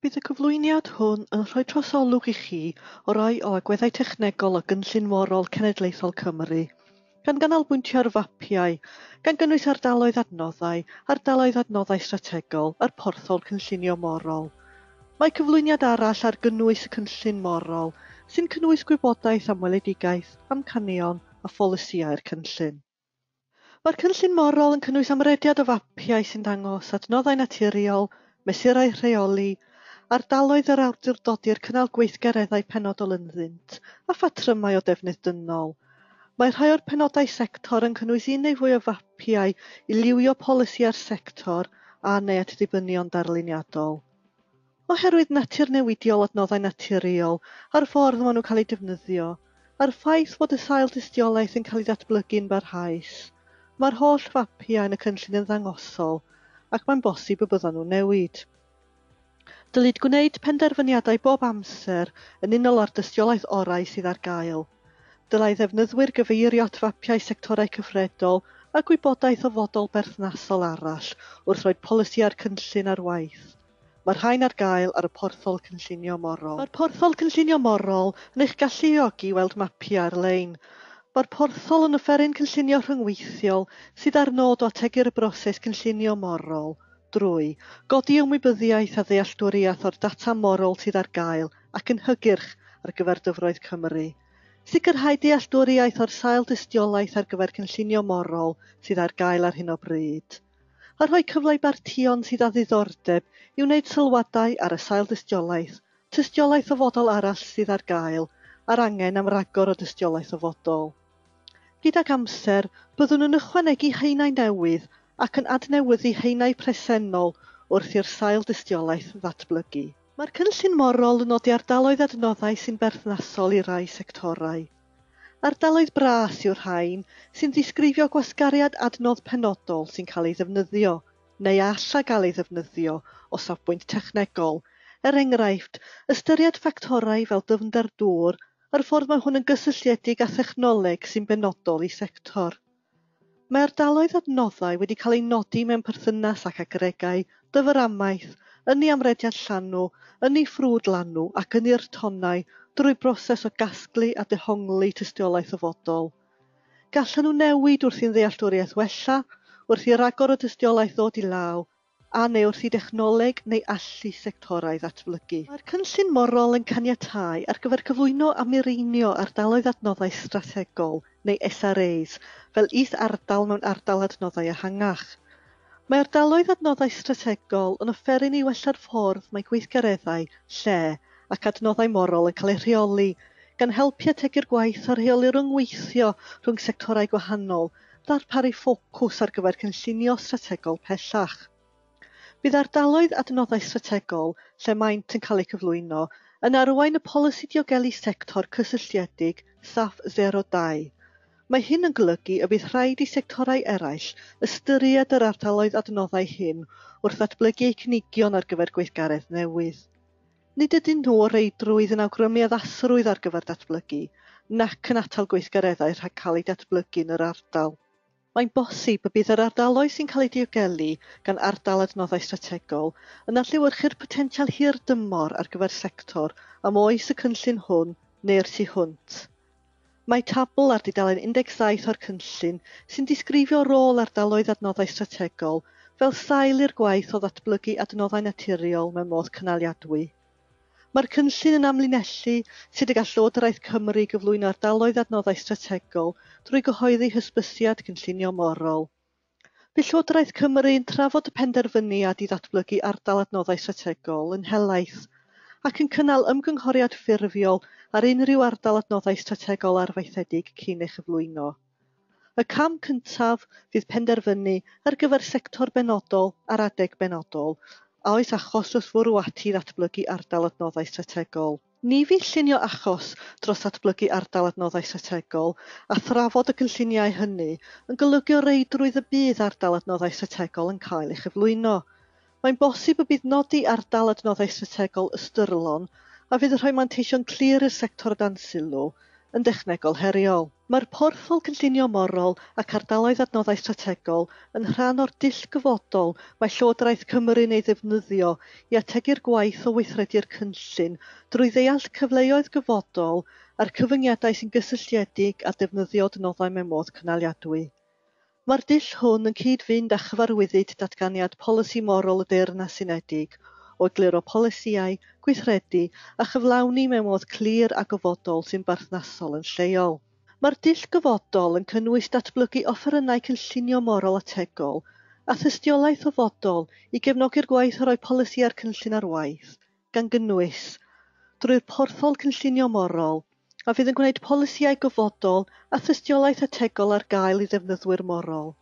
Bydd y cyflwyniad hwn yn rhoi trosolwg i chi o rai o agweddau technegol o Gynllun Morol Cenedlaethol Cymru, gan ganolbwyntio ar fapiau, gan gynnwys ardaloedd adnoddau, ardaloedd adnoddau strategol a'r porthol cynllunio morol. Mae cyflwyniad arall ar gynnwys y cynllun morol, sy'n cynnwys gwybodaeth am weledigaeth, amcanion a pholisïau'r cynllun. Mae'r cynllun morol yn cynnwys amrediad o fapiau sy'n dangos adnoddau naturiol, mesurau rheoli, ardaloedd yr awdurdodir cynnal gweithgareddau penodol ynddynt, a phatrymau o defnydd dynol. Mae rhai o'r penodau sector yn cynnwys un neu fwy o fapiau i liwio polisi ar sector a neu at ddibynion darluniadol. Oherwydd natur newidiol adnoddau naturiol a'r ffordd maen nhw'n cael eu defnyddio, a'r ffaith fod y sail dystiolaeth yn cael ei ddatblygu'n barhaus, mae'r holl fapiau yn y cynllun yn ddangosol ac mae'n bosib y byddan nhw'n newid. Dylid gwneud penderfyniadau bob amser yn unol â'r dystiolaeth orau sydd ar gael. Dylai ddefnyddwyr gyfeirio at fapiau sectorau cyfredol a gwybodaeth ofodol berthnasol arall wrth roi polisi a'r cynllun ar waith. Mae'r rhain ar gael ar y porthol cynllunio morol. Mae'r porthol cynllunio morol yn eich galluogi i weld mapiau ar-lein. Mae'r porthol yn offeryn cynllunio rhyngweithiol sydd â'r nod o ategu'r broses cynllunio morol drwy godi ymwybyddiaeth a ddealltwriaeth o'r data morol sydd ar gael ac yn hygyrch ar gyfer dyfroedd Cymru. Sicrhau dealltwriaeth o'r sail dystiolaeth ar gyfer cynllunio morol sydd ar gael ar hyn o bryd. A rhoi cyfle i bartïon sydd â ddiddordeb i wneud sylwadau ar y sail dystiolaeth, tystiolaeth ofodol arall sydd ar gael, a'r angen am ragor o dystiolaeth ofodol. Gydag amser, byddwn yn ychwanegu haenau newydd ac yn adnewyddu haenau presennol wrth i'r sail dystiolaeth ddatblygu. Mae'r cynllun morol yn nodi ardaloedd adnoddau sy'n berthnasol i rai sectorau. Ardaloedd bras yw'r rhain sy'n disgrifio gwasgariad adnodd penodol sy'n cael ei ddefnyddio, neu all gael ei ddefnyddio o safbwynt technegol, er enghraifft, ystyried ffactorau fel dyfnder dŵr a'r ffordd mae hwn yn gysylltiedig â thechnoleg sy'n benodol i sector. Mae ardaloedd adnoddau wedi cael eu nodi mewn perthynas ac agregau, dyframaeth, ynni amrediad llanw, ynni ffrwd lanw ac ynni'r tonnau drwy broses o gasglu a dehongli tystiolaeth ofodol. Gallan nhw newid wrth i'n ddealltwriaeth wella, wrth i ragor o dystiolaeth ddod i law, a neu wrth i dechnoleg neu allu sectorau ddatblygu. Mae'r cynllun morol yn caniatáu ar gyfer cyflwyno a mireinio ardaloedd adnoddau strategol, neu SRAs, fel is-ardal mewn ardal adnoddau ehangach. Mae ardaloedd adnoddau strategol yn offeryn i wella'r ffordd mae gweithgareddau, lle ac adnoddau morol yn cael eu rheoli, gan helpu ategu'r gwaith o rheoli rhyngweithio rhwng sectorau gwahanol, darparu ffocws ar gyfer cynllunio strategol pellach. Bydd ardaloedd adnoddau strategol, lle maent yn cael eu cyflwyno, yn arwain y polisi diogelu sector cysylltiedig SAF 02. Mae hyn yn golygu y bydd rhaid i sectorau eraill ystyried yr ardaloedd adnoddau hyn wrth ddatblygu eu cynigion ar gyfer gweithgaredd newydd. Nid ydyn nhw o reidrwydd yn awgrymu addasrwydd ar gyfer datblygu, nac yn atal gweithgareddau rhag cael eu datblygu yn yr ardal. Mae'n bosib y bydd yr ardaloedd sy'n cael eu diogelu gan ardal adnoddau strategol yn adlewyrchu'r potensial hir dymor ar gyfer sector am oes y cynllun hwn neu'r tu hwnt. Mae tabl ar dudalen 17 o'r cynllun sy'n disgrifio rôl ardaloedd adnoddau strategol fel sail i'r gwaith o ddatblygu adnoddau naturiol mewn modd cynaliadwy. Mae'r cynllun yn amlinellu sut y gall Llywodraeth Cymru gyflwyno ardaloedd adnoddau strategol drwy gyhoeddi hysbysiad cynllunio morol. Bydd Llywodraeth Cymru yn trafod y penderfyniad i ddatblygu ardal adnoddau strategol yn helaeth ac yn cynnal ymgynghoriad ffurfiol ar unrhyw ardal adnoddau strategol arfaethedig cyn ei chyflwyno. Y cam cyntaf fydd penderfynu ar gyfer sector benodol ar adeg benodol a oes achos dros fwrw ati i ddatblygu ardal adnoddau strategol. Ni fydd llunio achos dros ddatblygu ardal adnoddau strategol a thrafod y cynlluniau hynny yn golygu o reidrwydd y bydd ardal adnoddau strategol yn cael ei chyflwyno. Mae'n bosib y bydd nodi ardal adnoddau strategol ystyrlon a fydd yn rhoi manteision clir i'r sector o dan sylw yn dechnegol heriol. Mae'r Porthol Cynllunio Morol ac Ardaloedd Adnoddau Strategol yn rhan o'r dull gofodol mae Llywodraeth Cymru'n ei ddefnyddio i ategu'r gwaith o weithredu'r cynllun drwy ddeall cyfleoedd gofodol a'r cyfyngiadau sy'n gysylltiedig â defnyddio adnoddau mewn modd cynaliadwy. Mae'r dull hwn yn cyd-fynd â chyfarwyddyd Datganiad Polisi Morol y Deyrnas Unedig o egluro polisïau, gweithredu a chyflawni mewn modd clir a gofodol sy'n berthnasol yn lleol. Mae'r dull gofodol yn cynnwys datblygu offerynnau cynllunio morol ategol a thystiolaeth ofodol i gefnogi'r gwaith o roi polisi a'r cynllun ar waith, gan gynnwys drwy'r porthol cynllunio morol, a fydd yn gwneud polisïau gofodol a thystiolaeth ategol ar gael i ddefnyddwyr morol.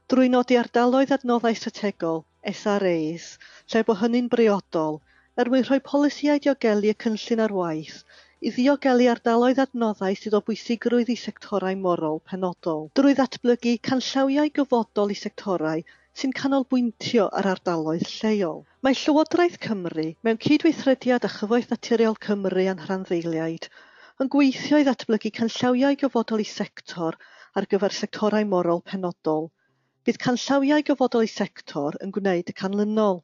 Drwy nodi ardaloedd adnoddau strategol, SRAs, lle bo hynny'n briodol, er mwyn rhoi polisïau diogelu y cynllun ar waith i ddiogelu ardaloedd adnoddau sydd o bwysigrwydd i sectorau morol penodol. Drwy ddatblygu canllawiau gofodol i sectorau sy'n canolbwyntio ar ardaloedd lleol. Mae Llywodraeth Cymru, mewn cydweithrediad â Chyfoeth Naturiol Cymru a'n rhanddeiliaid, yn gweithio i ddatblygu canllawiau gofodol i sector ar gyfer sectorau morol penodol. Bydd canllawiau gofodol i sector yn gwneud y canlynol.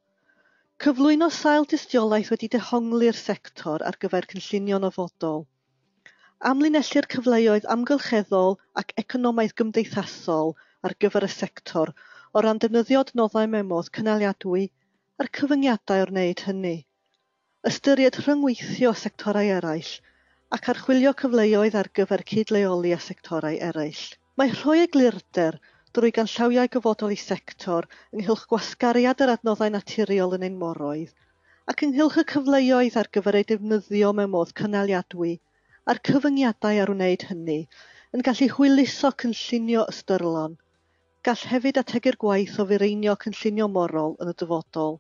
Cyflwyno sail dystiolaeth wedi dehongli'r sector ar gyfer cynllunio'n ofodol. Amlinellu'r cyfleoedd amgylcheddol ac economaidd gymdeithasol ar gyfer y sector o ran defnyddio adnoddau mewn modd cynaliadwy a'r cyfyngiadau o'r wneud hynny. Ystyried rhyngweithio sectorau eraill ac archwilio cyfleoedd ar gyfer cydleoli â sectorau eraill. Mae rhoi eglurder drwy ganllawiau gofodol i sector ynghylch gwasgariad yr adnoddau naturiol yn ein moroedd ac ynghylch y cyfleoedd ar gyfer eu defnyddio mewn modd cynaliadwy a'r cyfyngiadau ar wneud hynny yn gallu hwyluso cynllunio ystyrlon. Gall hefyd ategu'r gwaith o fireinio cynllunio morol yn y dyfodol.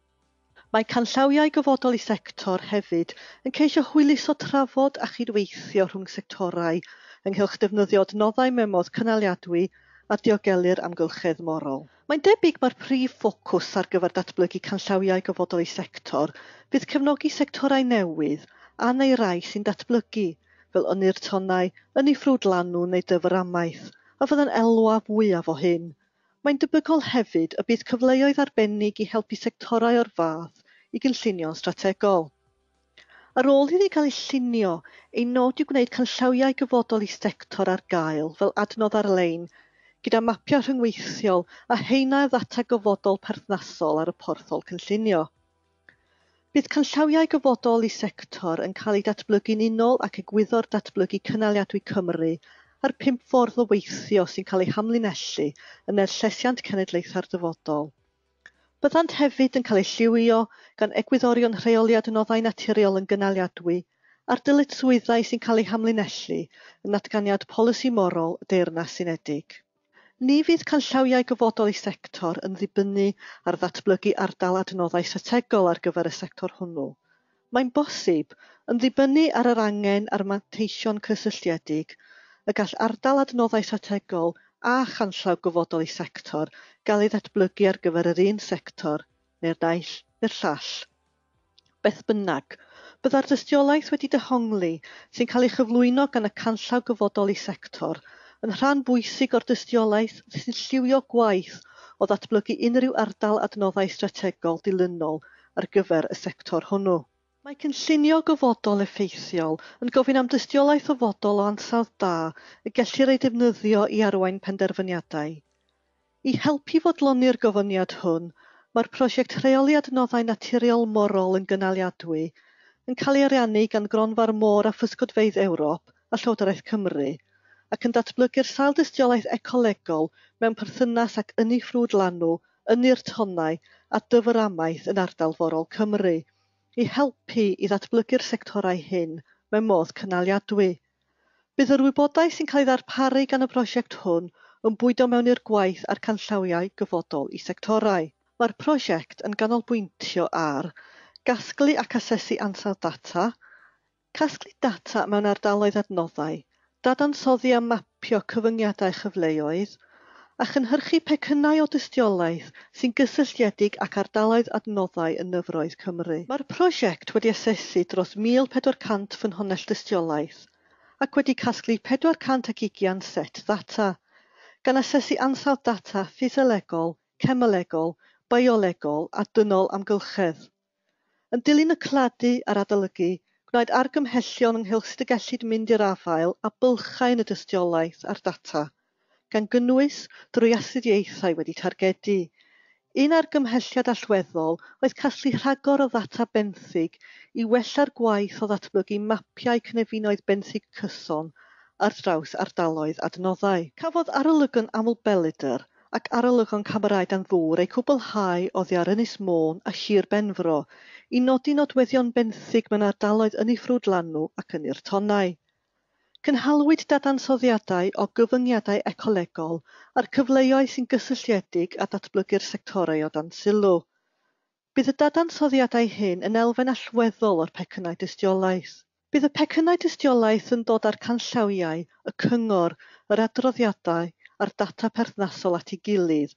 Mae canllawiau gofodol i sector hefyd yn ceisio hwyluso trafod a chydweithio rhwng sectorau ynghylch defnyddio adnoddau mewn modd cynaliadwy a diogelu'r amgylchedd morol. Mae'n debyg mae'r prif ffocws ar gyfer datblygu canllawiau gofodol i sector fydd cefnogi sectorau newydd a neu rai sy'n datblygu, fel ynni'r tonnau, ynni ffrwd lanw neu dyfr amaeth, a fydd yn elwa fwyaf o hyn. Mae'n debygol hefyd y bydd cyfleoedd arbennig i helpu sectorau o'r fath i gynllunio'n strategol. Ar ôl iddi gael ei llunio, ei nod yw gwneud canllawiau gofodol i sector ar gael fel adnodd ar-lein gyda mapiau rhyngweithiol a haenau o ddata gofodol perthnasol ar y porthol cynllunio. Bydd canllawiau gofodol i sector yn cael eu datblygu'n unol ac egwyddor datblygu cynaliadwy Cymru a'r 5 ffordd o weithio sy'n cael eu hamlinellu yn er llesiant cenedlaethau'r dyfodol. Byddant hefyd yn cael eu lliwio gan egwyddorion rheoli adnoddau naturiol yn gynaliadwy a'r dyletswyddau sy'n cael eu hamlinellu yn natganiad polisi morol y Deyrnas Unedig. Ni fydd canllawiau gofodol i sector yn ddibynnu ar ddatblygu ardal adnoddau strategol ar gyfer y sector hwnnw. Mae'n bosib, yn ddibynnu ar yr angen a'r manteision cysylltiedig, y gall ardal adnoddau strategol a chanllaw gofodol i sector gael ei ddatblygu ar gyfer yr un sector, neu'r naill neu'r llall. Beth bynnag, byddai'r dystiolaeth wedi dehongli sy'n cael ei chyflwyno gan y canllaw gofodol i sector yn rhan bwysig o'r dystiolaeth sy'n lliwio gwaith o ddatblygu unrhyw ardal adnoddau strategol dilynol ar gyfer y sector hwnnw. Mae cynllunio gofodol effeithiol yn gofyn am dystiolaeth ofodol o ansawdd da y gellir ei defnyddio i arwain penderfyniadau. I helpu fodloni'r gofyniad hwn, mae'r prosiect Rheoli Adnoddau Naturiol Morol yn Gynaliadwy yn cael ei ariannu gan Gronfa'r Môr a Physgodfeydd Ewrop a Llywodraeth Cymru ac yn datblygu'r sail dystiolaeth ecolegol mewn perthynas ag ynni ffrwd lanw, ynni'r tonnau a dyfr amaeth yn ardal forol Cymru, i helpu i ddatblygu'r sectorau hyn mewn modd cynaliadwy. Bydd yr wybodaeth sy'n cael ei ddarparu gan y prosiect hwn yn bwydo mewn i'r gwaith a'r canllawiau gofodol i sectorau. Mae'r prosiect yn ganolbwyntio ar gasglu ac asesu ansawdd data, casglu data mewn ardaloedd adnoddau, dadansoddi a mapio cyfyngiadau chyfleoedd, a chynhyrchu pecynnau o dystiolaeth sy'n gysylltiedig ac ardaloedd adnoddau yn nyfroedd Cymru. Mae'r prosiect wedi asesu dros 1,400 ffynhonnell dystiolaeth ac wedi casglu 420 set ddata, gan asesu ansawdd data ffisolegol, cemelegol, biolegol a dynol amgylchedd. Yn dilyn y claddu a'r adolygu, gwnaed argymhellion ynghylch sut y gellid mynd i'r afael â bylchau yn y dystiolaeth a'r data, gan gynnwys drwy astudiaethau wedi targedu. Un argymhelliad allweddol oedd casglu rhagor o ddata benthyg i wella'r gwaith o ddatblygu mapiau cynefinoedd benthyg cyson ar draws ardaloedd adnoddau. Cafodd arolygon amlbelydr ac arolygon camerâu dan ddŵr eu cwblhau oddi ar Ynys Môn a Sir Benfro i nodi nodweddion benthyg mewn ardaloedd ynni ffrwdlanw ac ynni'r tonnau. Cynhaliwyd dadansoddiadau o gyfyngiadau ecolegol a'r cyfleoedd sy'n gysylltiedig â datblygu'r sectorau o dan sylw. Bydd y dadansoddiadau hyn yn elfen allweddol o'r pecynnau dystiolaeth. Bydd y pecynnau dystiolaeth yn dod â'r canllawiau, y cyngor, yr adroddiadau a'r data perthnasol at ei gilydd,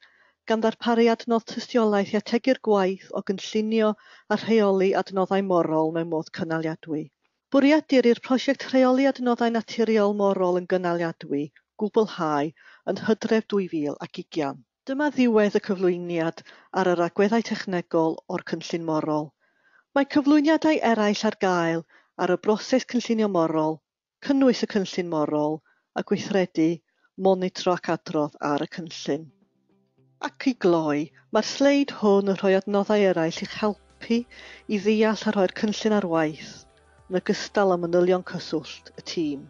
gan ddarparu adnodd tystiolaeth i ategu'r gwaith o gynllunio a rheoli adnoddau morol mewn modd cynaliadwy. Bwriedir i'r prosiect Rheoli Adnoddau Naturiol Morol yn Gynaliadwy gwblhau yn Hydref 2020. Dyma ddiwedd y cyflwyniad ar yr agweddau technegol o'r cynllun morol. Mae cyflwyniadau eraill ar gael ar y broses cynllunio morol, cynnwys y cynllun morol, a gweithredu, monitro ac adrodd ar y cynllun. Ac i gloi, mae'r sleid hwn yn rhoi adnoddau eraill i'ch helpu i ddeall a rhoi'r cynllun ar waith, yn ogystal â manylion cyswllt y tîm.